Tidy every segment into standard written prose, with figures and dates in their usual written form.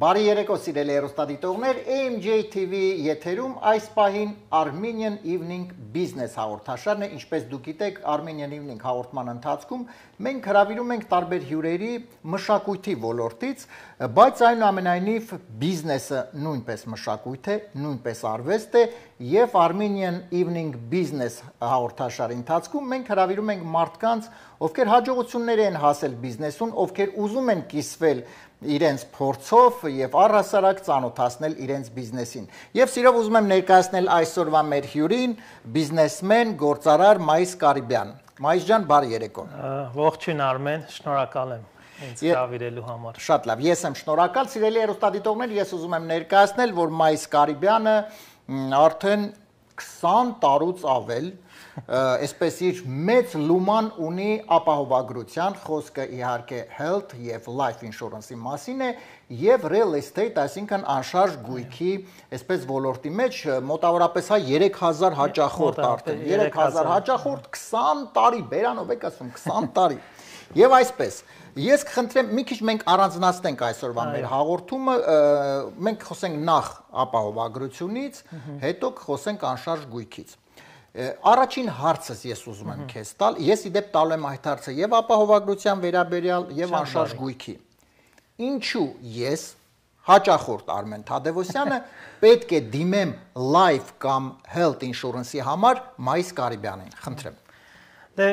Բարի երեկո սիրելի հեռուստադիտողներ, AMJ TV եթերում այս պահին Armenian Evening Business հաղորդաշարն է, ինչպես դուք գիտեք, Armenian Evening հաղորդման ընթացքում մենք հրավիրում ենք տարբեր հյուրերի մշակույթի ոլորտից, բայց այնուամենայնիվ բիզնեսը նույնպես մշակույթ է, նույնպես արվեստ է եւ Armenian Evening Business հաղորդաշարի ընթացքում մենք հրավիրում ենք մարդկանց, ովքեր հաջողություններ են հասել բիզնեսում, ովքեր ուզում են կիսվել իրենց փորձով եւ առհասարակ ծանոթացնել իրենց բիզնեսին։ Եվ սիրով ուզում եմ ներկայացնել այսօրվա մեր հյուրին, բիզնեսմեն, գործարար Մայիս Կարիբյան։ Մայիս ջան, բարի երեկո։ Ողջույն Արմեն, շնորհակալ եմ ինձ հրավիրելու համար։ Շատ լավ, ես եմ շնորհակալ, սիրելի հեռուստադիտողներ, ես ուզում եմ ներկայացնել, որ Մայիս Կարիբյանը արդեն 20 տարուց ավել այսպես իր մեծ լուման ունի ապահովագրության, խոսքը իհարկե health եւ life insurance-ի մասին է եւ real estate, այսինքն անշարժ գույքի, այսպես ոլորտի մեջ մոտավորապես 3000 հաճախորդ արդեն, 3000 հաճախորդ 20 տարի, բերանով եք ասում 20 տարի։ Եվ այսպես, ես կխնդրեմ մի քիչ մենք առանձնացնենք այսօրվա մեր հաղորդումը, մենք խոսենք նախ ապահովագրությունից, հետո խոսենք անշարժ գույքից։ Առաջին հարցս ես ուզում եմ քեզ տալ, ես իդեպ տալու եմ այդ հարցը եւ ապահովագրության վերաբերյալ եւ անշարժ գույքի։ Ինչու ես հաճախորդ Արմեն Թադևոսյանը պետք է դիմեմ life կամ health insurance-ի համար Մայիս Կարիբյանին, խնդրեմ։ Դե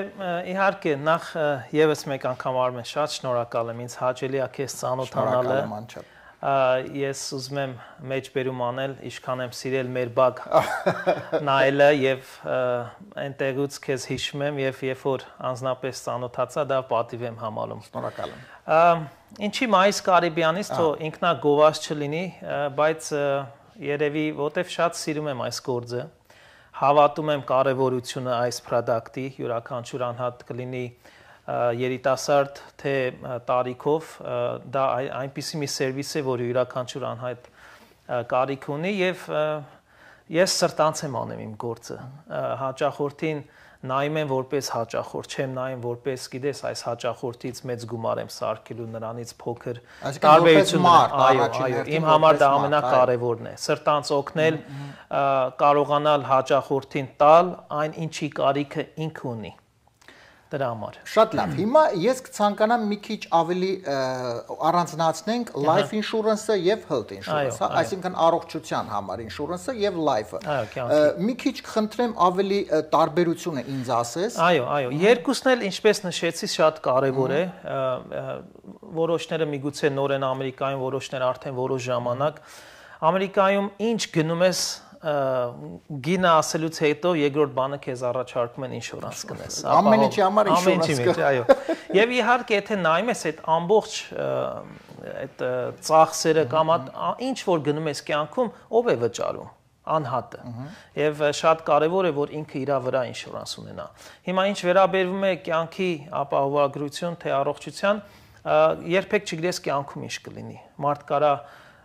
իհարկե նախ եւս մեկ անգամ Արմեն շատ շնորհակալ եմ ինձ հաճելի է քեզ ծանոթանալը։ Ես ուզում եմ մեջբերում անել, ինչքան եմ սիրել մեր բակ նայելը եւ այնտեղից քեզ հիշում եմ եւ երբ որ անձնապես ծանոթացա, դա պատիվ եմ համարում։ Շնորհակալ եմ։ Ինչի Մայիս Կարիբյանից թո ինքնագովազ չլինի, բայց երևի որտեվ շատ սիրում եմ այս գործը, հավատում եմ կարևորությունը այս product-ի, յուրաքանչյուր անհատ կլինի երիտասարդ թե տարիքով դա այնպիսի մի սերվիս է, որը յուրաքանչյուր անհատ կարիք ունի եւ ես սրտանց եմ անում իմ գործը հաճախորդին նայում եմ որպես հաճախորդ, չեմ նայում որպես, գիտես, այս հաճախորդից մեծ գումար եմ սարքելու նրանից փոքր տարբերություն, այո, իմ համար դա ամենակարևորն է, սրտանց օգնել, կարողանալ հաճախորդին տալ այն ինչի կարիքը ինքը ունի։ Դրա համար։ Շատ լավ։ Հիմա ես կցանկանամ մի քիչ ավելի առանձնացնենք life insurance-ը եւ health insurance-ը, այսինքն առողջության համար insurance-ը եւ life-ը։ Մի քիչ կխնդրեմ ավելի տարբերությունը ինձ ասես։ Այո, երկուսն էլ ինչպես նշեցի շատ կարեւոր է։ Որոշները միգուցե նոր են Ամերիկայում, որոշները արդեն որոշ ժամանակ։ Ամերիկայում ինչ գնում ես գինը ասելուց հետո երկրորդ բանը քեզ առաջարկում են ինշուրանս կնես։ Ամեն ինչի համար ինշուրանս կա։ Այո։ Եվ իհարկե եթե նայում ես այդ ամբողջ այդ ծախսերը կամ ինչ որ գնում ես կյանքում, ով է վճարում։ Անհատը։ Եվ շատ կարևոր է որ ինքը իր վրա ինշուրանս ունենա։ Հիմա ինչ վերաբերվում է կյանքի ապահովագրություն թե առողջության, երբեք չգիտես կյանքում ինչ կլինի։ Մարդ կարա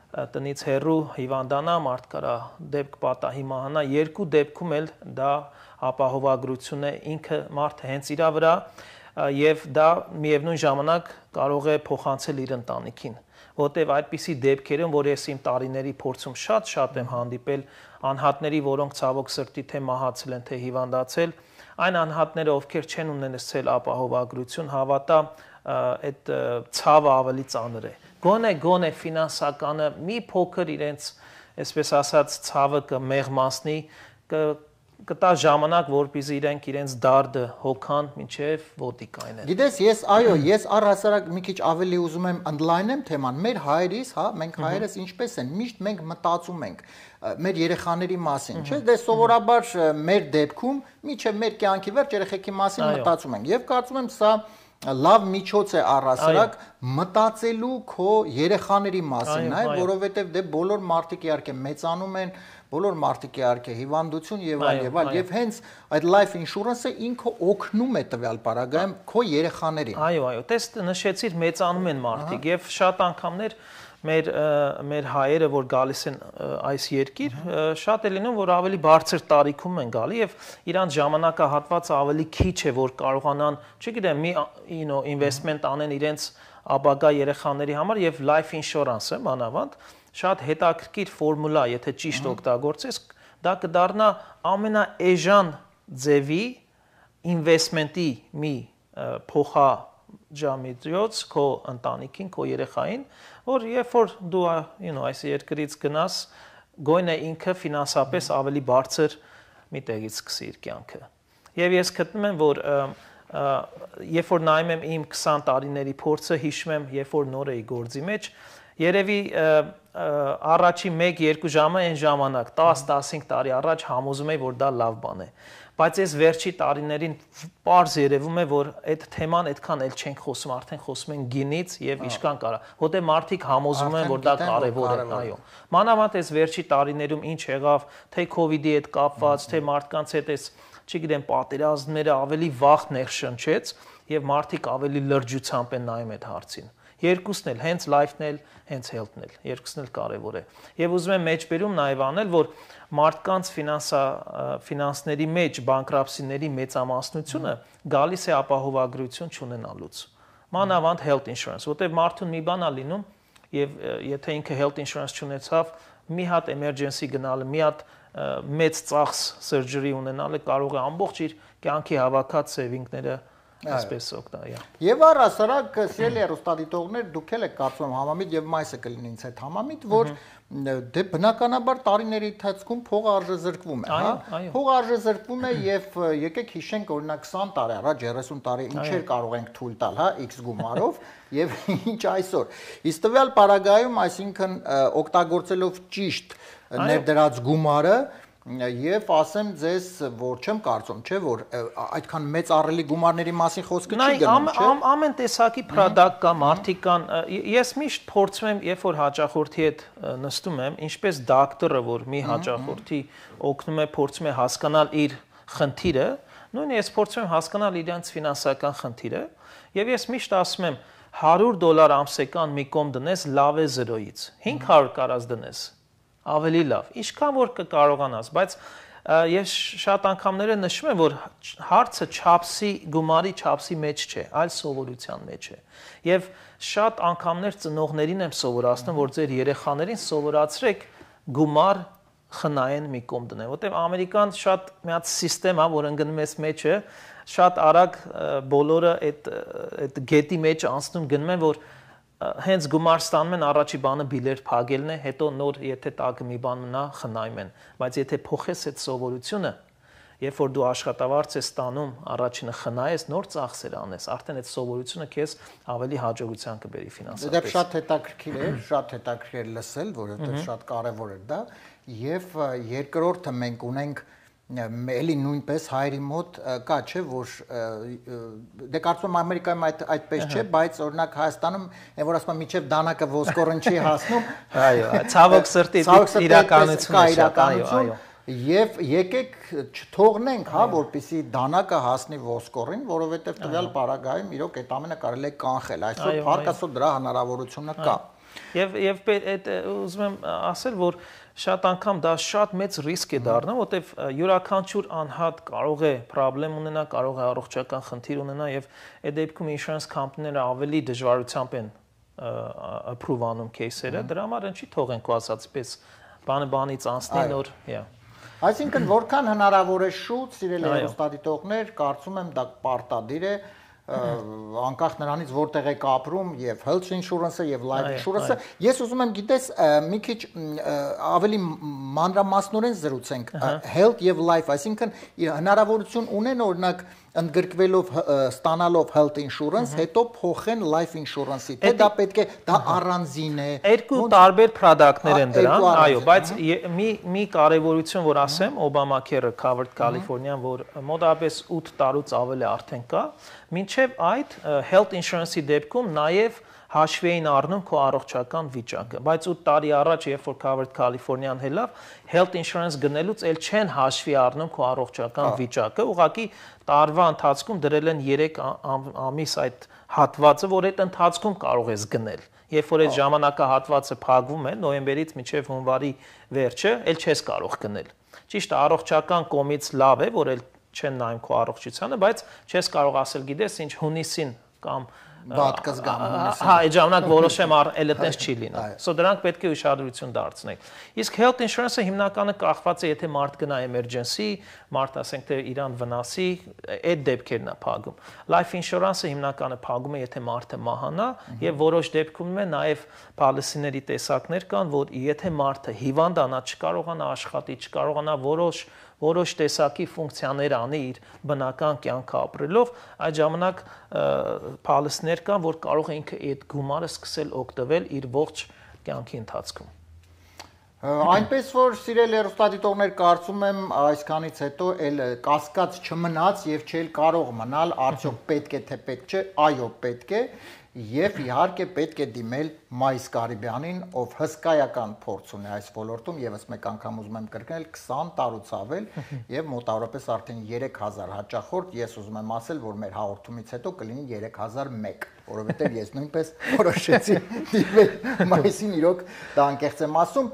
տնից հեռու հիվանդանա, մարդ կարա դեպք պատահի մահանա, երկու դեպքում էլ դա ապահովագրություն է, ինքը մարդը հենց իր վրա եւ դա միևնույն ժամանակ կարող է փոխանցել իր ընտանիքին, որտեւ այդպիսի դեպքերում, որ ես իմ տարիների փորձում շատ եմ հանդիպել անհատների, որոնք ցավոք սրտի թե մահացել են, թե հիվանդացել, այն անհատները, ովքեր չեն ունեցել ապահովագրություն, հավատա այդ ցավը ավելի ծանր է։ Գոնե ֆինանսականը մի փոքր իրենց, այսպես ասած, ցավը կմեղմացնի, կտա ժամանակ, որպեսզի իրենց դարդը հոգան մինչև ոտիկային են։ Գիտես, ես առհասարակ մի քիչ ավելի ուզում եմ ընդլայնեմ թեման։ Մեր հայերիս, հա, մենք հայերս ինչպես են, միշտ մենք մտածում ենք մեր երեխաների մասին, չէ՞, դե սովորաբար մեր դեպքում մինչև մեր կյանքի վերջ երեխեքի մասին մտածում ենք։ Եվ կարծում եմ սա լավ միջոց է առհասարակ մտածելու քո երեխաների մասին, այ որովհետև դե բոլոր մարդիկ իհարկե մեծանում են, բոլոր մարդիկ իհարկե հիվանդություն եւ այլ եւ հենց այդ life insurance-ը ինքը օգնում է տվյալ պարագայում քո երեխաներին։ Այո, տես նշեցիր մեծանում են մարդիկ եւ շատ անգամներ մեր հայերը, որ գալիս են այս երկիր, շատ է լինում, որ ավելի բարձր տարիքում են գալի եւ իրանց ժամանակահատվածը ավելի քիչ է, որ կարողանան, չգիտեմ, մի investment անեն իրենց ապագա երեխաների համար եւ life insurance-ը մանավանդ շատ հետաքրքիր ֆորմուլա, եթե ճիշտ օգտագործես, դա կդառնա ամենաէժան ձևի investment-ի մի փոխաջամիջոց քո ընտանիքին, քո երեխային, որ երբ որ դու այս երկրից գնաս, գոնե ինքը ֆինանսապես ավելի բարձր մի տեղից սկսի իր կյանքը։ Եվ ես գտնում եմ, որ երբ որ նայում եմ իմ 20 տարիների փորձը, հիշում եմ, երբ որ նոր էի գործի մեջ, երևի առաջի 1-2 ժամը այն ժամանակ 10-15 տարի առաջ համոզում էի, որ դա լավ բան է։ Բայց այս վերջի տարիներին պարզ երևում է, որ այդ թեման այդքան էլ չենք խոսում, արդեն խոսում են գինից եւ ինչքան կարա։ Որտեղ մարդիկ համոզում են, որ դա կարեւոր է, այո։ Մանավանդ այս վերջի տարիներում ինչ եղավ, թե COVID-ի հետ կապված, թե մարդկանց հետ այս, չգիտեմ, պատերազմները ավելի վաղ ներշնչեց եւ մարդիկ ավելի լրջությամբ են նայում այդ հարցին։ Երկուսն էլ, հենց life-ն էլ, հենց health-ն էլ, երկուսն էլ կարևոր է։ Եվ ուզում եմ մեջբերում նաև անել, որ մարդկանց ֆինանսների մեջ բանկրապտcyների մեծամասնությունը գալիս է ապահովագրություն չունենալուց։ Մանավանդ health insurance, որտեղ մարդուն մի բան է լինում, եւ եթե ինքը health insurance չունեցավ, մի հատ emergency գնալը, մի հատ մեծ ծախս surgery ունենալը կարող է ամբողջ իր կյանքի հավաքած saving-ները այսպես օգտագործել։ Եվ առասարակ սիրելի հեռուստադիտողներ, դուք էլ եք կարծում համամիտ եւ մայիսը կլինի ինձ հետ համամիտ, որ դե բնականաբար տարիների ընթացքում փողը արժեզրկվում է, հա։ Փողը արժեզրկվում է եւ եկեք հիշենք օրինակ 20 տարի առաջ, 30 տարի ինչեր կարող ենք թույլ տալ, հա, X գումարով եւ ինչ այսօր։ Իսկ տվյալ պարագայում, այսինքն օգտագործելով ճիշտ ներդրած գումարը Եվ ասեմ ձեզ, որ չեմ կարծում, չէ, որ այդքան մեծ առելի գումարների մասին խոսքը չի գնում, չէ։ Ամեն տեսակի product կա, մարդիկ կան։ Ես միշտ փորձում եմ, երբ որ հաճախորդի հետ նստում եմ, ինչպես դոկտորը, որ մի հաճախորդի օգնում է, փորձում է հասկանալ իր խնդիրը, նույնիսկ ես փորձում եմ հասկանալ իրենց ֆինանսական խնդիրը, եւ ես միշտ ասում եմ $100 ամսական մի կողմ դնես լավ է 0-ից, 500 կարած դնես ավելի լավ, ինչքան որ կկարողանաս, բայց ես շատ անգամները նշում եմ, որ հարցը չափսի, գումարի չափսի մեջ չէ, այլ սովորության մեջ է։ Եվ շատ անգամներ ծնողներին եմ սովորացնում, որ ձեր երեխաներին սովորացրեք գումար խնայեն մի կողմ դնել, որտեղ Ամերիկան շատ մի հատ համակարգ է, որ ընկնում է մեջը, շատ արագ բոլորը այդ գետի մեջ անցնում գնում են, որ հենց գումար ստանում են, առաջի բանը բիլեր փակելն է, հետո նոր եթե տակը մի բան մնա խնայում են, բայց եթե փոխես այդ սովորությունը, երբ որ դու աշխատավարձ ես ստանում, առաջինը խնայես, նոր ծախսեր անես, արդեն այդ սովորությունը քեզ ավելի հաջողության կբերի ֆինանսապես։ Դա շատ հետաքրքիր է լսել, որովհետև շատ կարևոր է դա, եւ երկրորդը մենք ունենք էլի նույնպես հայերի մոտ կա, չէ, որ դե կարծում եմ Ամերիկայում այդպես չէ, բայց օրինակ Հայաստանում այն որ ասում եմ միջև դանակը ոսկորն չի հասնում, այո, ցավոք սրտի իրականությունն է շատ, այո, եւ եկեք չթողնենք, հա, որպեսի դանակը հասնի ոսկորին, որովհետեւ տվյալ պարագայում իրոք այդ ամենը կարելի է կանխել, այսօր փառք դրա հնարավորությունը կա։ Եվ այդ ուզում եմ ասել, որ շատ անգամ դա շատ մեծ ռիսկ է դառնում, որտեվ յուրաքանչյուր անհատ կարող է խնդրեմ ունենա, կարող է առողջական խնդիր ունենա եւ այդ դեպքում insurance company-ները ավելի դժվարությամբ են approve անում кейսերը, դրա համար ինչի թողենք ու ասած պես բանից անցնի նոր, Այսինքն որքան հնարավոր է շուտ, սիրելի հեռուստադիտողներ, կարծում եմ դա պարտադիր է անկախ նրանից որտեղ եք ապրում եւ health insurance-ը եւ life insurance-ը ես ուզում եմ գիտես մի քիչ ավելի մանրամասնորեն զրուցենք health եւ life, այսինքն հնարավորություն ունեն օրինակ ընդգրկվելով ստանալով health insurance, հետո փոխեն life insurance-ի, թե դա պետք է դա առանձին է։ Երկու տարբեր product-ներ են դրան, այո, բայց մի կարևորություն որ ասեմ, Obamacare Covered California-ն, որ մոտավորապես 8 տարուց ավել է արդեն կա, մինչև այդ health insurance-ի դեպքում նաև հաշվի էին առնում քո առողջական վիճակը, բայց 8 տարի առաջ, երբ որ Covered California-ն հելավ, health insurance գնելուց էլ չեն հաշվի առնում քո առողջական վիճակը, ուղղակի տարվա ընթացքում դրել են 3 ամիս այդ հատվածը, որ այդ ընթացքում կարող ես գնել։ Երբ որ այդ ժամանակահատվածը փակվում է, նոյեմբերից մինչև հունվարի վերջը, էլ չես կարող գնել։ Ճիշտ է, առողջական կողմից լավ է, որ էլ չեն նայում քո առողջությանը, բայց չես կարող ասել, գիտես, ինչ հունիսին կամ բադ կզգամ։ Հա, այդ ժամանակ որոշեմ էլ այդպես չի լինի։ So դրանք պետք է ուշադրություն դարձնել։ Իսկ health insurance-ը հիմնականը կախված է, եթե մարդ գնա emergency, մարդ ասենք թե իրան վնասի, այդ դեպքերն է փակում։ Life insurance-ը հիմնականը փակում է, եթե մարդը մահանա, եւ որոշ դեպքում է նաեւ policy-ների տեսակներ կան, որ եթե մարդը հիվանդանա, չկարողանա աշխատի, չկարողանա որոշ տեսակի ֆունկցիաներ անի իր բնական կյանքը ապրելով, այդ ժամանակ policy-ներ կան, որ կարող է ինքը այդ գումարը սկսել օգտվել իր ողջ կյանքի ընթացքում։ Այնպես որ սիրելի հեռուստադիտողներ, կարծում եմ այսքանից հետո էլ կասկած չմնաց եւ չէլ կարող մնալ, արդյոք պետք է թե պետք չէ, այո, պետք է եւ իհարկե պետք է դիմել Մայիս Կարիբյանին, ով հսկայական փորձ ունի այս ոլորտում, եւս մեկ անգամ ուզում եմ կրկնել 20 տարուց ավել եւ մոտավորապես արդեն 3000 հաճախորդ, ես ուզում եմ ասել, որ մեր հաղորդումից հետո կլինի 3001, որովհետեւ ես նույնպես որոշեցի դիմել Մայիսին, իրոք դա անկեղծ եմ ասում,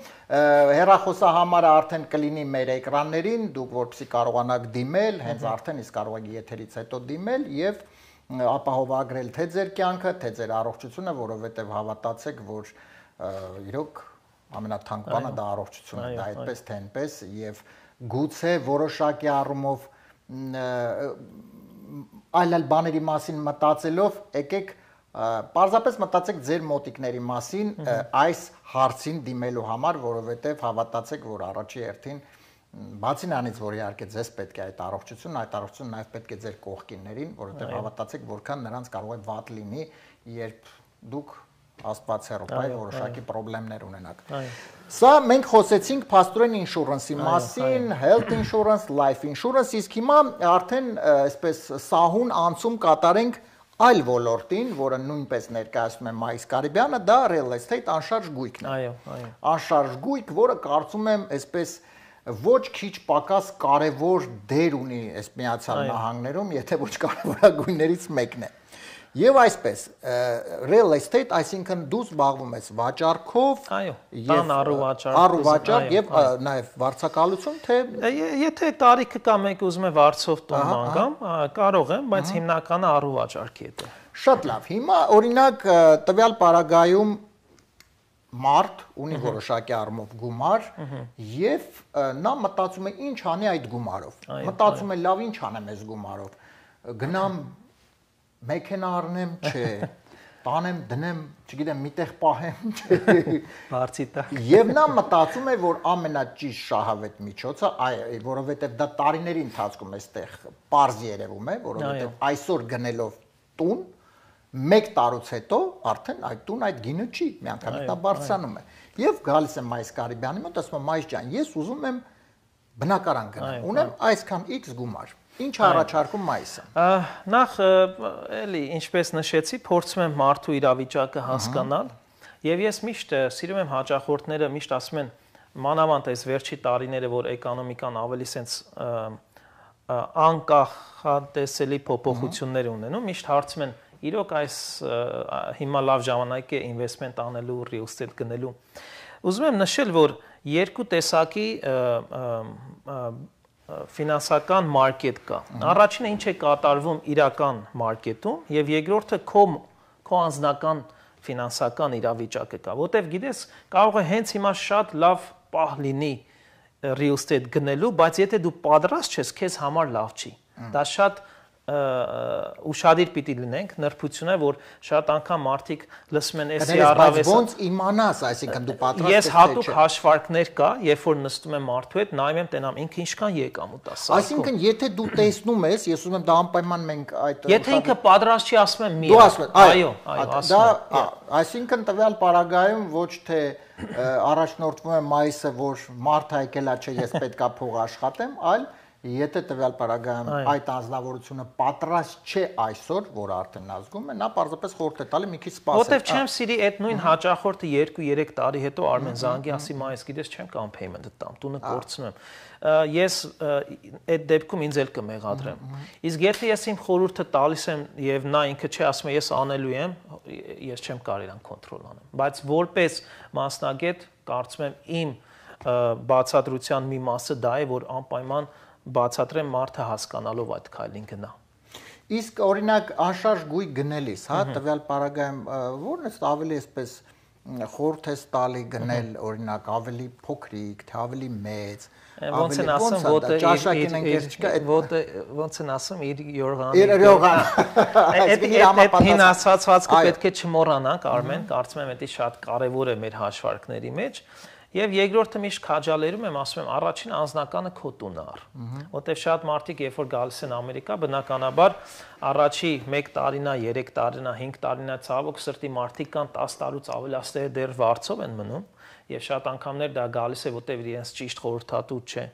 հեռախոսահամարը արդեն կլինի մեր էկրաններին, դուք որպեսզի կարողանաք դիմել, հենց արդեն իսկ կարող եք եթերից հետո դիմել եւ ապահովագրել թե ձեր կյանքը, թե ձեր առողջությունը, որովհետև հավատացեք, որ իրոք ամենաթանկ բանը դա առողջությունն է, դա այդպես թե այնպես եւ գուցե որոշակի առումով այլ բաների մասին մտածելով, եկեք պարզապես մտածեք ձեր մոտիկների մասին այս հարցին դիմելու համար, որովհետև հավատացեք, որ առաջի հերթին բացի նրանից, որ իհարկե ձեզ պետք է այդ առողջությունը նաև պետք է ձեր կողքիններին, որովհետև հավատացեք, որքան նրանց կարող է վատ լինի, երբ դուք աստված հեռու որոշակի խնդիրներ ունենաք։ Սա մենք խոսեցինք փաստորեն ինշուրանսի մասին, health insurance, life insurance, իսկ հիմա արդեն այսպես սահուն անցում կատարենք այլ ոլորտին, որը նույնպես ներկայացնում է Մայիս Կարիբյանը, դա real estate անշարժ գույքն է։ Այո։ Անշարժ գույք, որը կարծում եմ այսպես ոչ քիչ պակաս կարևոր դեր ունի այս Միացյալ Նահանգներում, եթե ոչ կարևորագույններից մեկն է։ Եվ այսպես, real estate, այսինքն դու զբաղվում ես վաճառքով, տան առուվաճառ եւ նաեւ վարձակալություն, թե եթե տարիքը կա մեկ ուզում է վարձով տուն մանգամ, կարող եմ, բայց հիմնականը առուվաճառքի հետ է։ Շատ լավ։ Հիմա օրինակ տվյալ պարագայում մարդ ունի որոշակի առումով գումար եւ նա մտածում է ինչ անի այդ գումարով։ Մտածում է լավ ինչ անեմ այս գումարով։ Գնամ մեքենա առնեմ, չէ, տանեմ, դնեմ, չգիտեմ, միտեղ պահեմ, չէ։ Բարձի տակ։ Եվ նա մտածում է, որ ամենաճիշտ շահավետ միջոցը, որովհետեւ դա տարիների ընթացքում էստեղ պարզ երևում է, որովհետեւ այսօր գնելով տուն մեկ տարուց հետո արդեն այդ տուն այդ գինը չի, միանգամից դա բարձրանում է։ Եվ գալիս եմ Մայիս Կարիբյանի մոտ, ասում եմ Մայիս ջան, ես ուզում եմ բնակարան գնամ, ունեմ այսքան X գումար։ Ինչ առաջարկում Մայիսը։ Նախ էլի, ինչպես նշեցի, փորձում եմ մարդու իրավիճակը հասկանալ, եւ ես միշտ սիրում եմ հաճախորդները միշտ ասում են, մանավանդ այս վերջի տարիները, որ էկոնոմիկան ավելի սենց անկախատեսելի փոփոխություններ ունենում, միշտ հարցում են իրոք այս հիմա լավ ժամանակ է ինվեստմենտ անելու, real estate գնելու։ Ուզում եմ նշել, որ երկու տեսակի ֆինանսական մարքետ կա։ Առաջինը ինչ է կատարվում իրական մարքետում եւ երկրորդը քո անձնական ֆինանսական իրավիճակը կա, որտեվ գիտես, կարող է հենց հիմա շատ լավ պահ լինի real estate գնելու, բայց եթե դու պատրաստ ես, քեզ համար լավ չի։ Դա շատ ուշադիր պիտի լինենք, նրբություն է, որ շատ անգամ մարդիկ լսում են էսի առավես։ Ոնց իմանաս, այսինքն դու պատրաստ ես Ես հատուկ հաշվարկներ կա, երբ որ նստում եմ մարդու հետ, նայում եմ, տենամ ինքը ինչքան եկամուտ է սարքում։ Այսինքն, եթե դու տեսնում ես, ես ուզում եմ դա անպայման մենք այդ Եթե ինքը պատրաստ չի, ասում եմ մի։ Դու ասում ես, այո, ասում եմ։ Այսինքն տվյալ պարագայում ոչ թե առաջնորդվում է Մայիսը, որ մարդը եկել է, չէ, ես պետքա փող աշխատեմ, այլ եթե տվյալ պարագայում այդ անձնավորությունը պատրաստ չէ այսօր, որ արդեն ազգում է, նա պարզապես խորհուրդ է տալի մի քիչ սպասել։ Որտեվ չեմ սիրի այդ նույն հաճախորդը 2-3 տարի հետո Արմեն զանգի ասի Մայիս, գիտես չեմ կամ payment-ը տամ, տունը կորցնում եմ։ Ես այդ դեպքում ինձ էլ կմեղադրեմ։ Իսկ եթե ես իմ խորհուրդը տալիս եմ եւ նա ինքը չի ասում ես անելու եմ, ես չեմ կարող իրան կոնտրոլ անեմ։ Բայց որպես մասնագետ կարծում եմ իմ բացատրության մի մասը դա է, որ անպայման բացատրեմ մարդը հասկանալով այդ քայլին գնա։ Իսկ օրինակ անշարժ գույք գնելիս, հա, տվյալ պարագայում ո՞րն է ավելի այսպես խորհուրդ է տալի գնել, օրինակ ավելի փոքրիկ, թե ավելի մեծ, ոնց են ասում, ոնց են ասում իր Յորղան։ Այդ հին ասացվածքը պետք է չմոռանանք, Արմեն, կարծում եմ դա շատ կարևոր է մեր հաշվարկների մեջ։ Եվ երկրորդը միշտ քաջալերում եմ, ասում եմ, առաջին անձնականը քո տունը առ։ Որտեվ շատ մարդիկ երբ որ գալիս են Ամերիկա, բնականաբար առաջի 1 տարինա, 3 տարինա, 5 տարինա ցավոք սրտի մարդիկ կան 10 տարուց ավելացները դեռ վարձով են մնում, եւ շատ անգամներ դա գալիս է, որտեվ իրենց ճիշտ խորհրդատու չէ,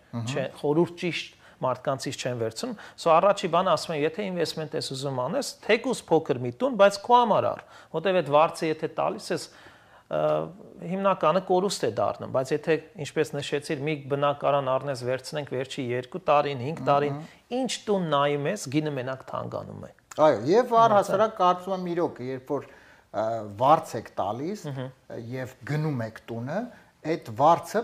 խորհուրդ ճիշտ մարդկանցից չեն վերցնում, սա առաջի բանը ասում եմ, եթե ինվեստմենտ ես ուզում անես, թեկուզ փոքր մի տուն, բայց քո համար առ, որտեվ այդ վարձը եթե տալիս ես հիմնականը կորուստ է դառնում, բայց եթե ինչպես նշեցիր, մի բնակարան առնես վերցնենք վերջի 2 տարին, 5 տարին, ինչ տուն նայում ես, գինը մենակ թանկանում է։ Այո, եւ առհասարակ կարծում եմ իրոք, երբ որ վարձ եք տալիս եւ գնում եք տունը, այդ վարձը,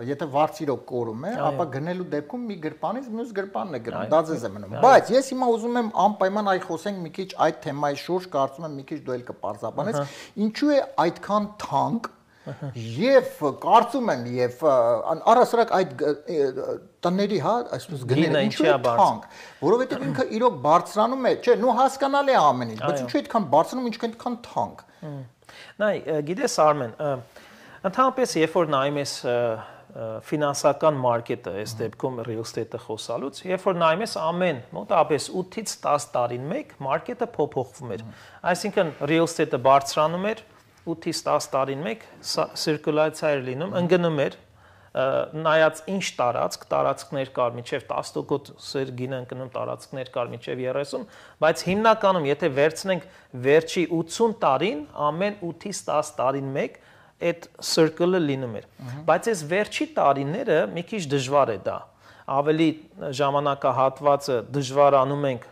եթե վարձ իրոք կորում է, ապա գնելու դեպքում մի գրպանից մյուս գրպանն է գնում, դա ձեզ է մնում։ Բայց ես հիմա ուզում եմ անպայման այ խոսենք մի քիչ այդ թեմայի շուրջ, կարծում եմ մի քիչ դու էլ կպարզաբանես, ինչու է այդքան թանկ եւ կարծում եմ եւ առհասարակ այդ տների, հա, այսպես գները ինչու է թանկ, որովհետեւ ինքը իրոք բարձրանում է, չէ, նո հասկանալի է ամեն ինչ, բայց ինչու է այդքան բարձրանում, ինչքան այդքան թանկ։ Նայ, գիտես Արմեն, ընդհանրապես երբ որ նայում ես ֆինանսական մարքետը, այս դեպքում real estate-ը խոսալուց, երբ որ նայում ես ամեն մոտավորապես 8-ից 10 տարին մեկ մարքետը փոփոխվում էր։ Այսինքն real estate-ը բարձրանում էր 8-ից 10 տարին մեկ circulation էր լինում, ընկնում էր, նայած ինչ տարածքներ կար մինչև 10% գինը ընկնում, տարածքներ կար մինչև 30, բայց հիմնականում եթե վերցնենք վերջի 80 տարին, ամեն 8-ից 10 տարին մեկ այդ circle-ը լինում էր, բայց այս վերջի տարիները մի քիչ դժվար է դա, ավելի ժամանակահատվածը դժվարանում ենք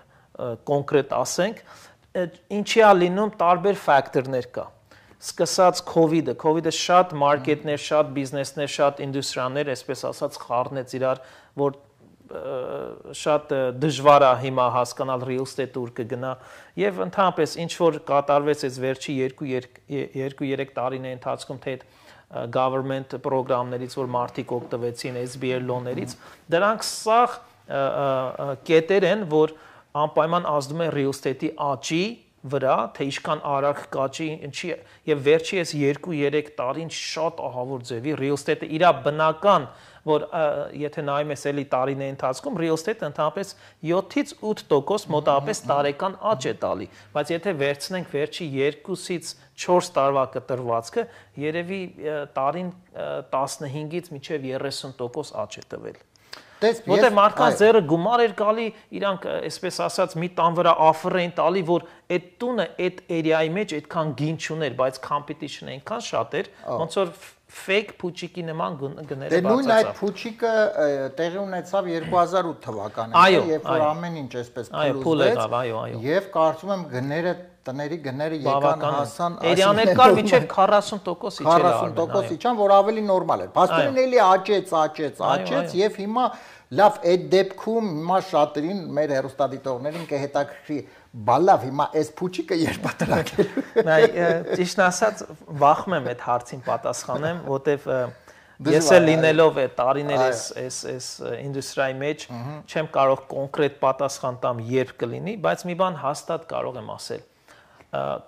կոնկրետ ասենք, ինչի է լինում տարբեր ֆակտորներ կա, սկսած COVID-ը շատ մարքետներ, շատ բիզնեսներ, շատ ինդուստրիաներ, այսպես ասած խառնեց իրար, որ շատ դժվար է հիմա հասկանալ real estate ուր կգնա եւ ընդհանրապես ինչ որ կատարվեց այս վերջի 2-3 տարիների ընթացքում թե government պրոգրամներից որ մարդիկ օգտվեցին SBA լոներից դրանք սաղ կետեր են որ անպայման ազդում են real estate-ի աճի վրա թե ինչքան արագ կաճի ինչի եւ վերջի այս 2-3 տարին շատ ահավոր ձևի real estate-ը իր բնական որ եթե նայում ես էլի տարիների ընթացքում real estate-ը ընդհանրապես 7-ից 8% մոտավորապես տարեկան աճ է տալի, բայց եթե վերցնենք վերջի 2-ից 4 տարվա կտրվածքը, երևի տարին 15-ից մինչև 30% աճ է տվել։ Որտեղ մարդկանց ձեռը գումար էր գալի, իրանք այսպես ասած մի տան վրա offer էին տալի, որ այդ տունը այդ area-ի մեջ այդքան գին չուներ, բայց competition-ը այնքան շատ էր, ոնց որ fake փուչիկի նման գները բացացավ։ Դե նույն այդ փուչիկը տեղի ունեցավ 2008 թվականին, երբ որ ամեն ինչ այսպես փլուզվեց, եւ կարծում եմ գները տների գները եկան հասան, էրիաներ կար մինչև 40% իջել է 40% իջան, որ ավելի նորմալ էր։ Փաստորեն էլի աճեց եւ հիմա լավ այդ դեպքում հիմա շատերին մեր հերոստատիտողներին կհետաքրքրի բալավ հիմա այս փուչիկը երբ է տրակելու։ Նայ ճիշտ ասած վախում եմ այդ հարցին պատասխանեմ, որտեվ ես էլ լինելով այդ տարիներ այս ինդուստրիայի մեջ չեմ կարող կոնկրետ պատասխան տամ երբ կլինի, բայց մի բան հաստատ կարող եմ ասել։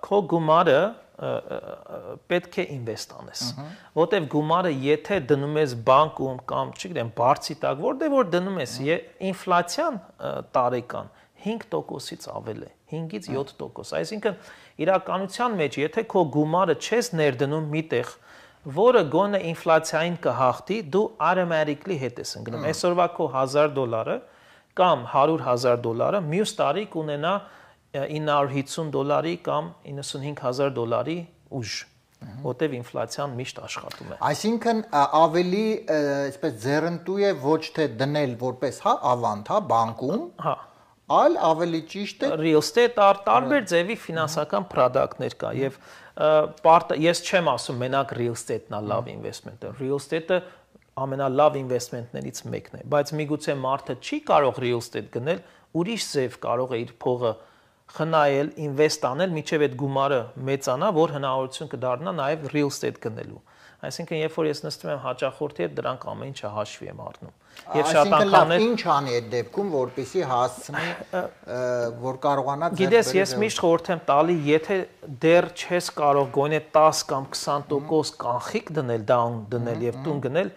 Քո գումարը պետք է ինվեստ անես, որտեվ գումարը եթե դնում ես բանկում կամ չգիտեմ բարձի տակ, որտեղ դնում ես ինֆլյացիան տարեկան 5%-ից ավել է, 5-ից 7%, այսինքն իրականության մեջ եթե քո գումարը չես ներդնում միտեղ, որը գոնե ինֆլյացիային կհաղթի, դու automatically հետ ես ընկնում։ Այսօրվա քո $1000 կամ $100,000 մյուս տարի կունենա $950 կամ $95,000 ուժ, որտեվ ինֆլյացիան միշտ աշխատում է։ Այսինքն ավելի այսպես ձեռնտու է ոչ թե դնել որպես հա ավանդ, հա բանկում, հա, այլ ավելի ճիշտ է real estate տարբեր ձևի ֆինանսական product-ներ կա եւ ես չեմ ասում մենակ real estate-ն է լավ investment-ը, real estate-ը ամենալավ investment-ներից մեկն է, բայց միգուցե մարդը չի կարող real estate գնել ուրիշ ձև կարող է իր փողը խնայել, ինվեստ անել, միջև այդ գումարը մեծանա, որ հնարավորություն կդառնա նաև real estate գնելու։ Այսինքն, երբ որ ես նստում եմ հաճախորդի հետ, դրանք ամեն ինչը հաշվի եմ առնում։ Եվ շատ անգամներ ինչ անի այդ դեպքում, որպեսզի հասցնի, որ կարողանա ձեռք բերել։ Գիտես, ես միշտ խորհուրդ եմ տալի, եթե դեռ չես կարող գոնե 10 կամ 20% կանխիկ դնել, down դնել եւ տուն գնել,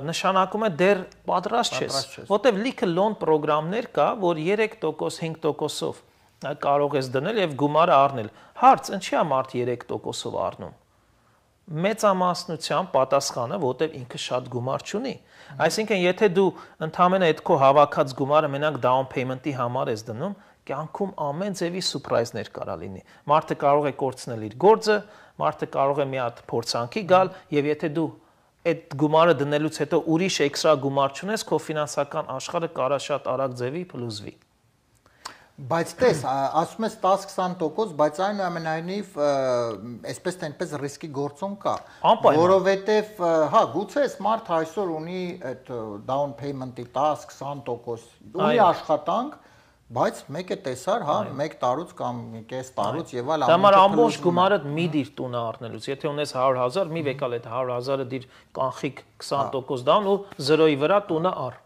նշանակում է դեռ պատրաստ չես, որտեվ լիքը loan պրոգրամներ կա, որ 3%, 5%-ով կարող ես դնել եւ գումարը առնել։ Հարց, ինչի է մարդ 3%-ով առնում։ Մեծամասնության պատասխանը, որտեղ ինքը շատ գումար չունի։ Այսինքն, եթե դու ընդհանրապես այդ քո հավաքած գումարը մենակ down payment-ի համար ես դնում, կյանքում ամեն ձևի սուրպրայզներ կարա լինի։ Մարդը կարող է կորցնել իր գործը, մարդը կարող է մի հատ փորձանքի գալ, եւ եթե դու այդ գումարը դնելուց հետո ուրիշ էքստրա գումար չունես, քո ֆինանսական աշխարհը կարա շատ արագ ձևի փլուզվի։ Բայց տես, ասում ես 10-20%, բայց այնուամենայնիվ այսպես թե այնպես ռիսկի գործոն կա, որովհետև հա, գուցե այս մարդը այսօր ունի այդ down payment-ի 10-20%, ունի աշխատանք, բայց մեկ է տեսար, հա, 1 տարուց կամ կես տարուց եւ այլ ամեն ամբողջ գումարը մի դիր տունը առնելուց, եթե ունես 100,000, մի վեկալ այդ 100,000-ը դիր կանխիկ 20% down ու 0-ի վրա տունը առ։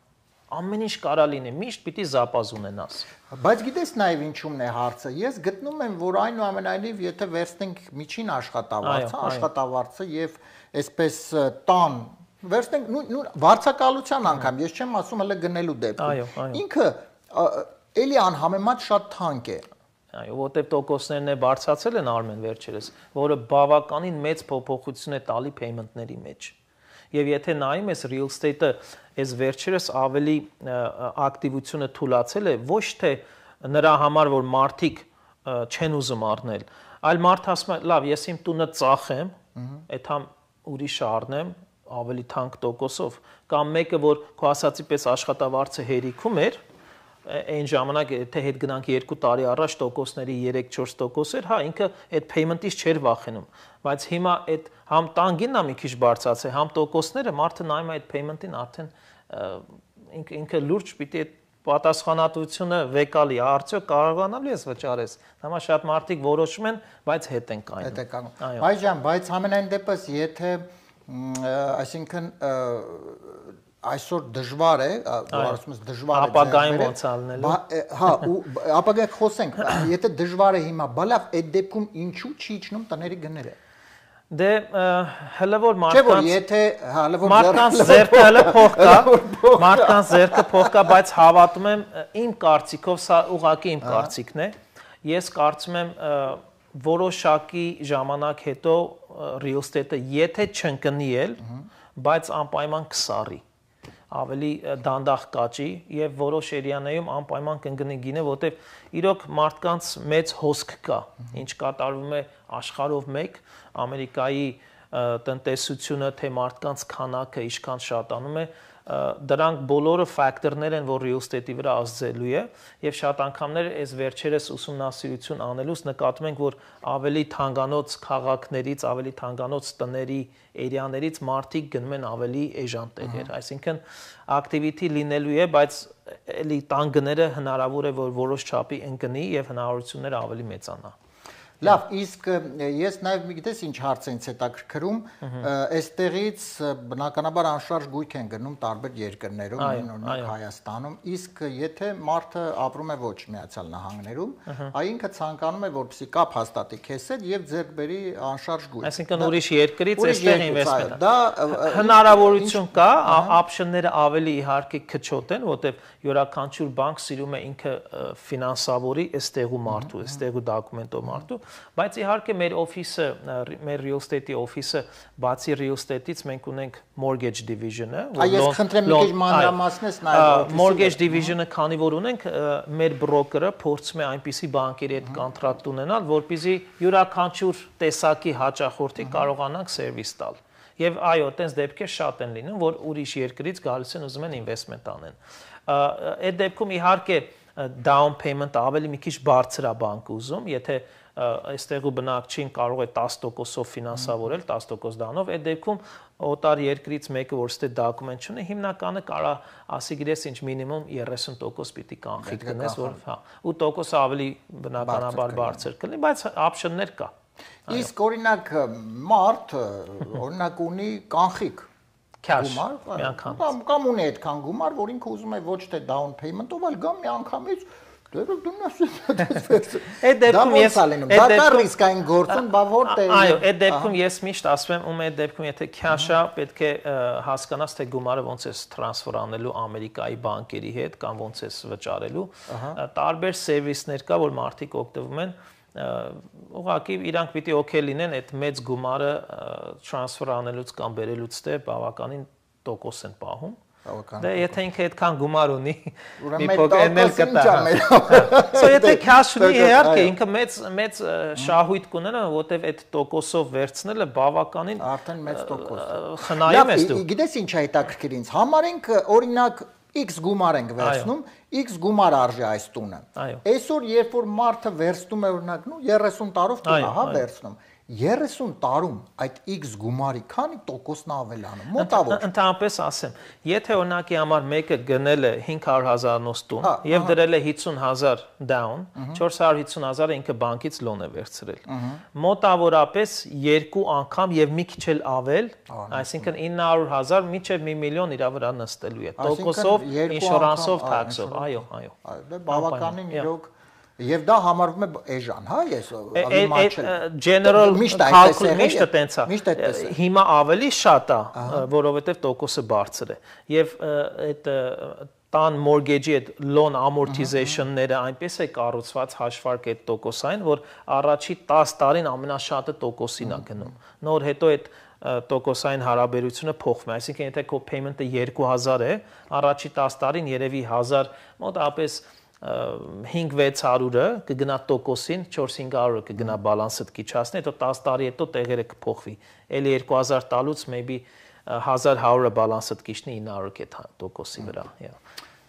Ամեն ինչ կարա լինի, միշտ պիտի զապազ ունենաս։ Բայց գիտես նաև ինչումն է հարցը։ Ես գտնում եմ, որ այնուամենայնիվ, եթե վերցնենք միջին աշխատավարձը եւ այսպես տան, վերցնենք վարձակալության անգամ, ես չեմ ասում հələ գնելու դեպքում։ Ինքը էլի անհամեմատ շատ թանկ է։ Այո, որտեղ տոկոսներն է բարձրացել են Արմեն վերջերս, որը բավականին մեծ փոփոխություն է տալի payment-ների մեջ։ Եվ եթե նայում ես real estate-ը, այս վերջերս ավելի ակտիվությունը թուլացել է, ոչ թե նրա համար, որ մարդիկ չեն ուզում առնել, այլ մարդը ասում է, լավ, ես իմ տունը ծախեմ, այդ համ ուրիշը առնեմ ավելի թանկ տոկոսով, կամ մեկը, որ քո ասացի պես աշխատավարձը հերիքում էր, այն ժամանակ եթե հետ գնանք 2 տարի առաջ տոկոսների 3-4% էր, հա, ինքը այդ payment-ից չէր վախենում, բայց հիմա այդ համ տանգինն է մի քիչ բարձրացել, համ տոկոսները մարդը նայում է այդ payment-ին արդեն ինքը լուրջ պիտի այդ պատասխանատվությունը վեկալի, արդյոք կարողանալու ես վճարես։ Հիմա շատ մարդիկ որոշում են, բայց հետ են կայանում։ Հետ է կայանում։ Այ ջան, բայց ամենայն դեպս եթե այսինքն այսօր դժվար է, որ ասում ես դժվար է ապագային ոնց ալնելու։ Հա, ու ապագայք խոսենք, եթե դժվար է հիմա, բա լավ, այդ դեպքում ինչու չի իջնում տների գները։ Դե հələ որ մարդկանց եթե հələ որ մարդկանց ձեռքը հələ փող կա, մարդկանց ձեռքը փող կա, բայց հավատում եմ իմ կարծիքով, սա ուղղակի իմ կարծիքն է։ Ես կարծում եմ որոշակի ժամանակ հետո real estate-ը եթե չընկնի էլ, բայց անպայման կսառի, ավելի դանդաղ կաճի եւ որոշ էրիաներում անպայման կընկնի գինը, որտեվ իրոք մարդկանց մեծ հոսք կա, ինչ կատարվում է աշխարհով մեկ, Ամերիկայի տնտեսությունը, թե մարդկանց քանակը ինչքան շատանում է, դրանք բոլորը ֆակտորներ են, որ real estate-ի վրա ազդելու է եւ շատ անգամներ այս վերջերս ուսումնասիրություն անելուց նկատում ենք, որ ավելի թանկանոց քաղաքներից, ավելի թանկանոց տների էրիաներից մարդիկ գնում են ավելի էժան տեղեր, այսինքն activity լինելու է, բայց էլի տան գները հնարավոր է, որ որոշ չափի ընկնի եւ հնարավորությունները ավելի մեծանա։ Լավ, իսկ ես նաև մի գիտես ինչ հարց ինձ հետաքրքրում, այստեղից բնականաբար անշարժ գույք են գնում տարբեր երկրներում, օրինակ Հայաստանում, իսկ եթե մարդը ապրում է ոչ Միացյալ Նահանգներում, այ ինքը ցանկանում է որպեսզի կապ հաստատի քեզ հետ եւ ձեռք բերի անշարժ գույք։ Այսինքն ուրիշ երկրից այստեղ ինվեստմենտ։ Դա հնարավորություն կա, option-ները ավելի իհարկե քչոտ են, որտեղ յուրաքանչյուր բանկ սիրում է ինքը ֆինանսավորի այստեղու մարդու, այստեղու դոկումենտով մարդու, բայց իհարկե մեր օֆիսը, մեր real estate-ի օֆիսը, բացի real estate-ից մենք ունենք mortgage division-ը, Այս խնդրեմ մի քիչ մանրամասնես նաև mortgage division-ը, քանի որ ունենք, մեր բրոկերը փորձում է այնպիսի բանկերի հետ կոնտրակտ ունենալ, որպեսզի յուրաքանչյուր տեսակի հաճախորդի կարողանանք սերվիս տալ։ Եվ այո, տենց դեպքեր շատ են լինում, որ ուրիշ երկրից գալիս են ուզում են ինվեստմենտ անեն։ Այդ դեպքում իհարկե down payment ավելի մի քիչ բարձր է բանկը ուզում, եթե այստեղու բնակչին կարող է 10%-ով ֆինանսավորել, 10% դանով, այդ դեպքում օտար երկրից մեկը, որ ստե դոկումենտ չունի, հիմնականը կարա ասի գիտես ինչ մինիմում 30% պիտի կանխիկ գնես, որ հա, 8% ավելի բնականաբար բարձր կլինի, բայց option-ներ կա։ Իսկ օրինակ մարդ օրինակ ունի կանխիկ գումար, կամ ունի այդքան գումար, որ ինքը ուզում է ոչ թե down payment-ով, այլ գամ մի անգամից Այդ դեպքում ես դա ռիսկային գործն, բա որտե՞ղ։ Այո, այդ դեպքում ես միշտ ասում եմ, այդ դեպքում եթե cash-ա, պետք է հասկանաս թե գումարը ոնց է տրանսֆեր անելու Ամերիկայի բանկերի հետ կամ ոնց է վճարելու։ Տարբեր սերվիսներ կա, որ մարդիկ օգտվում են ուղղակի իրանք պիտի օքեյ լինեն այդ մեծ գումարը տրանսֆեր անելուց կամ բերելուց դե բավականին տոկոս են պահում։ Դե եթե ինքը այդքան գումար ունի, մի փոքր էնել կտա։ Սա եթե cash ունի, իհարկե ինքը մեծ շահույթ կունենա, որտեվ այդ տոկոսով վերցնելը բավականին արդեն մեծ տոկոս։ խնայում ես դու։ Գիտես ինչ է հետաքրքիր ինձ։ Համարենք օրինակ X գումար ենք վերցնում, X գումար արժի այս տունը։ Այսօր երբ որ մարդը վերցնում է օրինակ 30 տարով տունը, հա, վերցնում 30 տարում այդ X գումարի քանի տոկոսն ավելանում, մոտավոր։ Ընդհանրապես ասեմ, եթե օրինակի համար մեկը գնել է 500,000-նոց տուն եւ դրել է 50,000 down, 450,000-ը ինքը բանկից լոն է վերցրել։ Մոտավորապես 2 անգամ եւ մի քիչ էլ ավել, այսինքն 900,000 մինչեւ 1 միլիոն իր վրա նստելու է։ Տոկոսով, ինշորանսով, թաքսով, այո։ Դա բավականին իրոք Եվ դա համարվում է էժան, հա, ես ավելի մաչել։ General calculation միշտ տենց է։ Հիմա ավելի շատ է, որովհետև տոկոսը բարձր է։ Եվ այդ տան mortgage-ի այդ loan amortization-ները այնպես է կառուցված հաշվարկ այդ տոկոսային, որ առաջի 10 տարին ամենաշատը տոկոսին է գնում։ Նոր հետո այդ տոկոսային հարաբերությունը փոխվում է, այսինքն եթե քո payment-ը 2000 է, առաջի 10 տարին երևի 1000 մոտավորապես 5-600-ը կգնա տոկոսին, 4-500-ը կգնա բալանսը կիչացնի, հետո 10 տարի հետո տեղերը կփոխվի։ Էլի 2000 տալուց maybe 1100-ը բալանսը կիչնի 900 կետ տոկոսի վրա։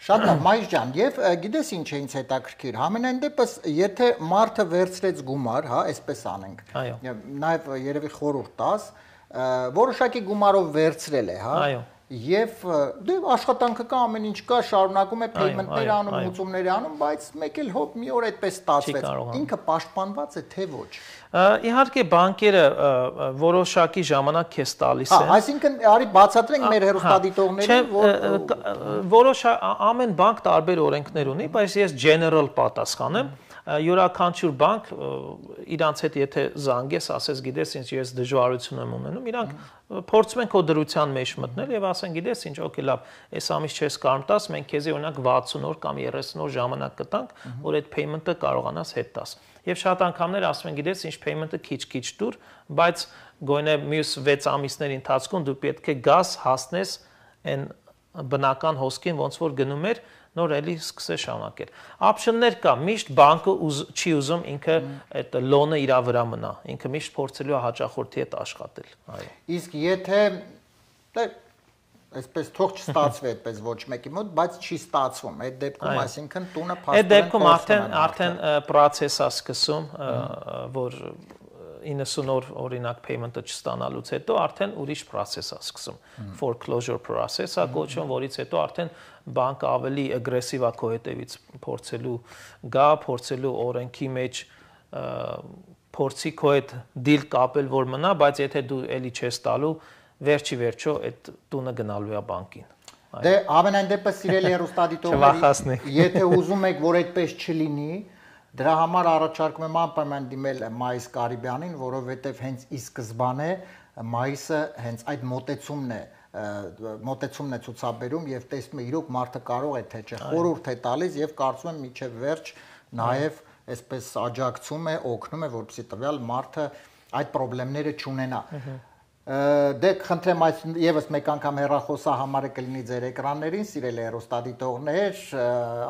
Շատ լավ, Մայր ջան, եւ գիտես ինչ է ինձ հետաքրքիր, համենայն դեպս եթե մարդը վերցրեց գումար, հա, այսպես անենք։ Նաեւ երևի խորհուրդ տաս, որոշակի գումարով վերցրել է, հա։ Եվ դե աշխատանքը կա, ամեն ինչ կա, շարունակում է payment-ներ անում, մուծումներ անում, բայց մեկ էլ հոп մի օր այդպես ստացվեց։ Ինքը պաշտպանված է թե ոչ։ Իհարկե բանկերը որոշակի ժամանակ քեզ տալիս են։ Այսինքն արի բացատրենք մեր հեռուստադիտողներին, որ որոշ ամեն բանկ տարբեր օրենքներ ունի, բայց ես general պատասխանեմ։ Յուրաքանչյուր բանկ իրանց հետ եթե զանգես, ասես գիտես ինչ ես դժվարություն եմ ունենում, իրանք փորձում են քո դրության մեջ մտնել եւ ասեն գիտես ինչ, օքեյ լավ, այս ամիս չես կարող տաս, մենք քեզի օրինակ 60 օր կամ 30 օր ժամանակ կտանք, որ այդ payment-ը կարողանաս հետ տաս։ Եվ շատ անգամներ ասում են գիտես ինչ payment-ը քիչ-քիչ դուր, բայց գոնե մյուս 6 ամիսների ընթացքում դու պետք է գաս հասնես այն բնական հոսքին, ոնց որ գնում էր նոր էլի սկսե շարունակել։ Option-ներ կա, միշտ բանկը չի ուզում ինքը այդ լոնը իր վրա մնա, ինքը միշտ փորձելու է հաճախորդի հետ աշխատել, այո։ Իսկ եթե այսպես թող չստացվի այդպես ոչ մեկի մոտ, բայց չի ստացվում, այդ դեպքում այսինքն տունը փաստորեն այդ դեպքում արդեն process է սկսում, որ 90 օր օրինակ payment-ը չստանալուց հետո արդեն ուրիշ process է սկսում, foreclosure process է կոչվում, որից հետո արդեն բանկը ավելի ագրեսիվ է քո հետևից փորձելու օրենքի մեջ փորձի քո հետ deal կապել, որ մնա, բայց եթե դու էլի չես տալու, վերջի վերջո այդ տունը գնալու է բանկին։ Դե ամենայն դեպս սիրելի հեռուստադիտողներ, եթե ուզում եք, որ այդպես չլինի, դրա համար առաջարկում եմ անպայման դիմել Մայիս Կարիբյանին, որովհետև հենց ի սկզբանե Մայիսը հենց այդ մոտեցումն է ցուցաբերում եւ տեսնում է իրոք մարդը կարող է թե չէ, խորհուրդ է տալիս եւ կարծում եմ միջև վերջ նաեւ այսպես աջակցում է, օգնում է, որպեսզի տվյալ մարդը այդ խնդիրները չունենա։ Դե խնդրեմ այս եւս մեկ անգամ հեռախոսահամարը կլինի ձեր էկրաններին, սիրելի հեռուստադիտողներ,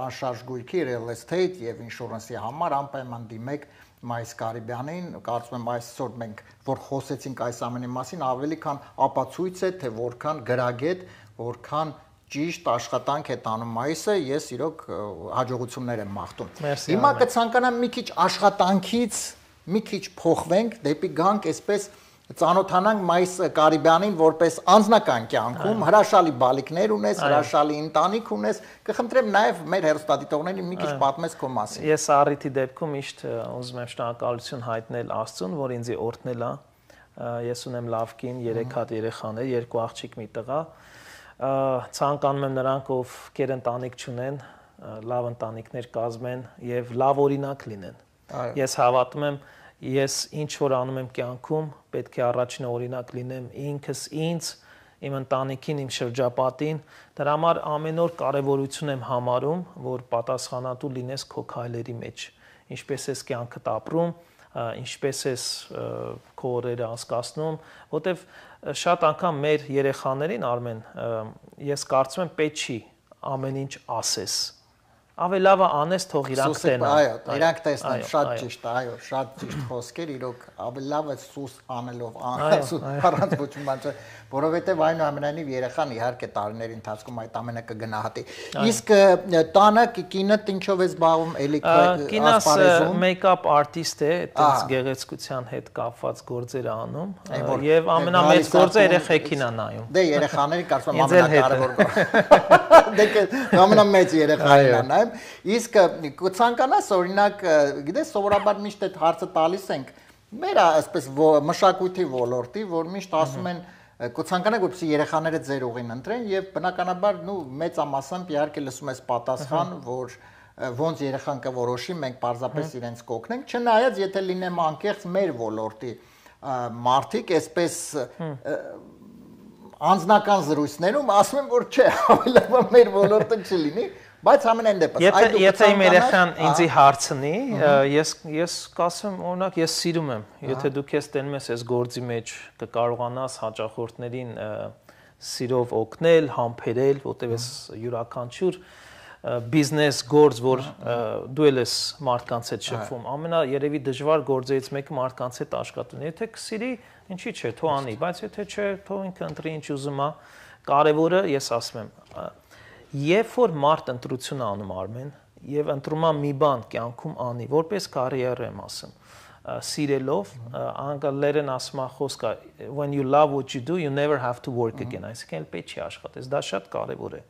անշարժ գույքի, real estate եւ insurance-ի համար անպայման դիմեք Մայիս Կարիբյանին, կարծում եմ այսօր մենք որ խոսեցինք այս ամենի մասին, ավելի քան ապացույց է, թե որքան գրագետ, որքան ճիշտ աշխատանք է տանում Մայիսը, ես իրոք հաջողություններ եմ մաղթում։ Հիմա կցանկանամ մի քիչ աշխատանքից մի քիչ փոխվենք դեպի գանք այսպես ծանոթանանք Մայիս Կարիբյանին որպես անձնական կյանքում հրաշալի բալիկներ ունես, հրաշալի ընտանիք ունես, կխնդրեմ նաև մեր հեռուստադիտողներին մի քիչ պատմես քո մասին։ Ես առիթի դեպքում միշտ ուզում եմ շնորհակալություն հայտնել Աստծուն, որ ինձ օրհնել է։ Ես ունեմ լավ կին, 3 հատ երեխաներ, 2 աղջիկ, մի տղա։ Ցանկանում եմ նրանք, ովքեր ընտանիք չունեն, լավ ընտանիքներ կազմեն եւ լավ օրինակ լինեն։ Ես հավատում եմ, ես ինչ որ անում եմ կյանքում, պետք է առաջին օրինակ լինեմ ինքս ինձ, իմ ընտանիքին, իմ շրջապատին, դրա համար ամեն օր կարևորություն եմ համարում, որ պատասխանատու լինես քո քայլերի մեջ, ինչպես ես կյանքդ ապրում, ինչպես ես քո օրերը անցկացնում, որտեվ շատ անգամ մեր երեխաներին Արմեն, ես կարծում եմ պետք չի ամեն ինչ ասես, ավելի լավ է անես թող իրանք տենան։ Այո, իրանք տեսնեն, շատ ճիշտ, այո, շատ ճիշտ խոսքեր, իրոք ավելի լավ է սուս անելով, առանց ոչ մի բան, որովհետև այնուամենայնիվ երեխան իհարկե տարիների ընթացքում այդ ամենը կգնահատի։ Իսկ տանը կինդ ինչով է զբաղվում, էլի ասպարեզում։ Մեյքափ արտիստ է, այդպես գեղեցկության հետ կապված գործեր անում, եւ ամենամեծ գործը երեխեքին է նայում։ Դե երեխաների կարծում եմ ամենակարևոր գործը։ Դե ամենամեծ երեխային է նայում։ Իսկ կցանկանաս օրինակ, գիտես, սովորաբար միշտ այդ հարցը տալիս ենք մեր այսպես մշակույթի ոլորտի, որ միշտ ասում են կցանկանաք որպեսզի երեխաները ձեր ուղին ընտրեն եւ բնականաբար մեծամասամբ իհարկե լսում ես պատասխան, որ ոնց երեխան կորոշի, մենք պարզապես իրենց կօգնենք, չնայած եթե լինեմ անկեղծ մեր ոլորտի մարդիկ այսպես անձնական զրույցներում ասում են որ չէ, ավելի լավ մեր ոլորտը չլինի, բայց ամենայն դեպս եթե իմ երեխան ինձի հարցնի, ես կասեմ, օրինակ ես սիրում եմ, եթե դու քեզ տենում ես այս գործի մեջ, կկարողանաս հաճախորդներին սիրով օգնել, համբերել, որտեղ ես յուրաքանչյուր բիզնես գործ, որ դու ես մարդկանց հետ շփվում, ամենաերևի դժվար գործերից մեկը մարդկանց հետ աշխատելն է։ Եթե կսիրի, ինչի՞ չէ, թող անի, բայց եթե չէ, թող ինքը ընտրի ինչ ուզում է։ Կարևորը ես ասում եմ, երբ որ մարդ ընտրություն անում Արմեն եւ ընտրում է մի բան կյանքում անի, որպես կարիերա եմ ասում, սիրելով, անգլերեն ասում է խոսքը when you love what you do you never have to work again, այսինքն պետք չի աշխատես, դա շատ կարեւոր է։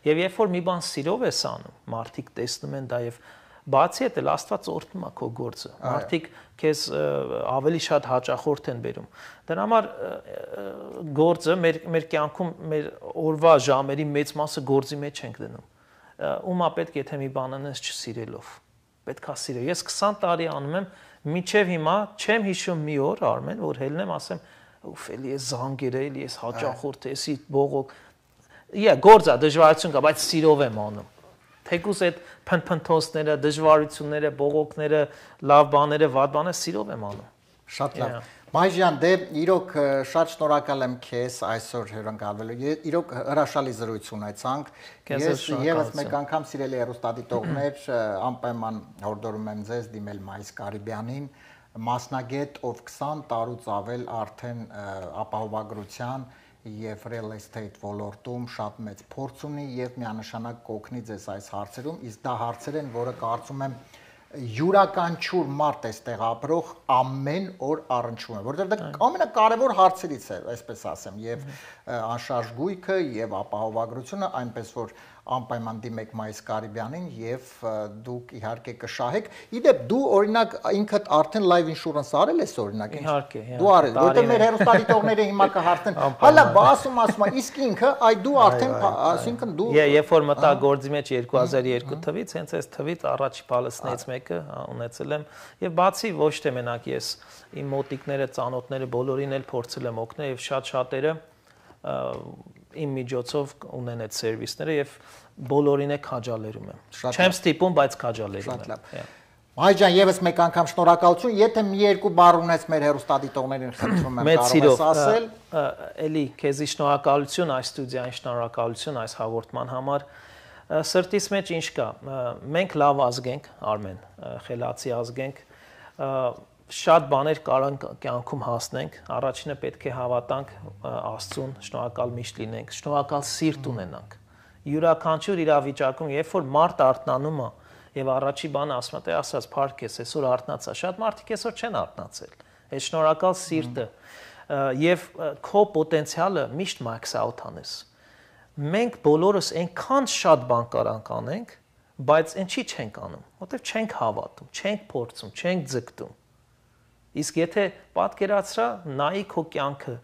Եվ երբ որ մի բան սիրով ես անում, մարդիկ տեսնում են դա եւ բացի այդ էլ Աստված օրհնում է քո գործը։ Մարդիկ քեզ ավելի շատ հաճախորդ են բերում։ Դրա համար գործը մեր կյանքում մեր օրվա ժամերի մեծ մասը գործի մեջ ենք դնում։ Ումա պետք է եթե մի բան անես չսիրելով։ Պետք է սիրել։ Ես 20 տարի անում եմ, մինչև հիմա չեմ հիշում մի օր Արմեն, որ հելնեմ ասեմ, ուֆ, էլի ես զանգեր էլի ես հաճախորդ էսի բողոք։ Գործա դժվարություն կա, բայց սիրով եմ անում։ Թեկուզ այդ փնփնթոցները, դժվարությունները, բողոքները, լավ բաները, վատ բաները սիրով եմ անում։ Շատ լավ։ Մայժյան, դե իրոք շատ շնորհակալ եմ քեզ այսօր հյուրընկալվելու։ Իրոք հրաշալի զրույց ունեցանք։ Ես եւս մեկ անգամ սիրելի հեռուստադիտողներ, անպայման հորդորում եմ ձեզ դիմել Մայիս Կարիբյանին, մասնագետ, ով 20 տարուց ավել արդեն ապահովագրության եւ real estate ոլորտում շատ մեծ փորձ ունի եւ միանշանակ կօգնի ձեզ այս հարցերում, իսկ դա հարցեր են, որը կարծում եմ յուրաքանչյուր մարդ այստեղ ապրող ամեն օր առնչվում է, որովհետեւ դա ամենակարևոր հարցերից է, այսպես ասեմ, եւ անշարժ գույքը եւ ապահովագրությունը, այնպես որ անպայման դիմեք Մայիս Կարիբյանին եւ դուք իհարկե կշահեք։ Իդեպ դու օրինակ ինքդ արդեն live insurance արել ես օրինակ։ Իհարկե, դու արել, որտեղ մեր հեռուստադիտողները հիմա կհարցնեն, հալա բասում ասում, իսկ ինքը այ դու արդեն, այսինքն դու երբ որ մտա գործի մեջ 2002 թվից, հենց այս թվից առաջի բալսներից մեկը ունեցել եմ եւ բացի ոչ թե մենակ ես, իմ մոտիկները, ծանոթները բոլորին էլ փորձել եմ օգնել եւ շատ շատերը իմ միջոցով ունեն այդ սերվիսները եւ բոլորին է քաջալերում եմ։ Չեմ ստիպում, բայց քաջալերում եմ։ Մայջան, եւս մեկ անգամ շնորհակալություն, եթե մի երկու բառ ունես մեր հեռուստադիտողներին խնդրում եմ կարող ես ասել։ Էլի քեզի շնորհակալություն այս ստուդիային, շնորհակալություն այս հաղորդման համար։ Սրտիս մեջ ինչ կա։ Մենք լավ ազգ ենք, Արմեն, խելացի ազգ ենք։ Շատ բաներ կարող կյանքում հասնենք, առաջինը պետք է հավատանք Աստծուն, շնորհակալ միշտ լինենք, շնորհակալ սիրտ ունենանք։ Յուրաքանչյուր իրավիճակում, երբ որ մարդ արթնանում է, Եվ առաջի բանը ասում եմ, ասած փառք ես, այսօր արթնացա, շատ մարդիկ այսօր չեն արթնացել։ Այդ շնորհակալ սիրտը եւ քո պոտենցիալը միշտ max out անես։ Մենք բոլորս այնքան շատ բան կարանք անենք, բայց ինչի չենք անում, որտեղ չենք հավատում, չենք փորձում, չենք ձգտում։ Իսկ եթե պատկերացրա, նայի քո կյանքը,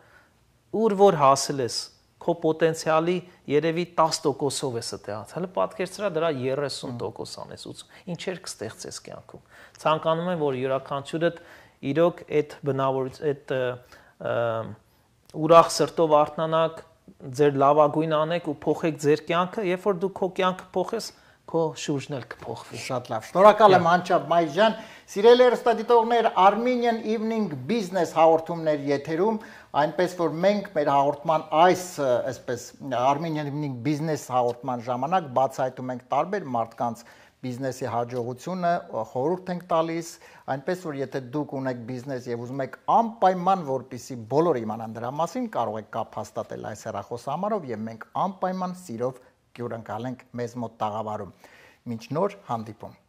ուր որ հասել ես, քո պոտենցիալի երևի 10%-ով ես այդտեղած, հələ պատկերացրա դրա 30% անես, ինչեր կստեղծես կյանքում։ Ցանկանում եմ, որ յուրաքանչյուրդ իրոք այդ բնավորություն, այդ ուրախ սրտով արթնանաք, ձեր լավագույնը անեք ու փոխեք ձեր կյանքը, երբ որ դու քո կյանքը փոխես, քո շուրջն էլ կփոխվի։ Շատ լավ։ Շնորհակալ եմ Անչափ Մայզյան։ Սիրելի հեռուստադիտողներ, Armenian Evening Business հաղորդումներ եթերում, այնպես որ մենք մեր հաղորդման այսպես Armenian Evening Business հաղորդման ժամանակ բացահայտում ենք տարբեր մարդկանց բիզնեսի հաջողությունը, խորհուրդ ենք տալիս, այնպես որ եթե դուք ունեք բիզնես եւ ուզում եք անպայման որպեսզի բոլորը իմանան դրա մասին, կարող եք կապ հաստատել այս հեռախոսահամարով եւ մենք անպայման սիրով կյուրընկալենք մեզ մոտ տաղավարում։ Մինչ նոր հանդիպում։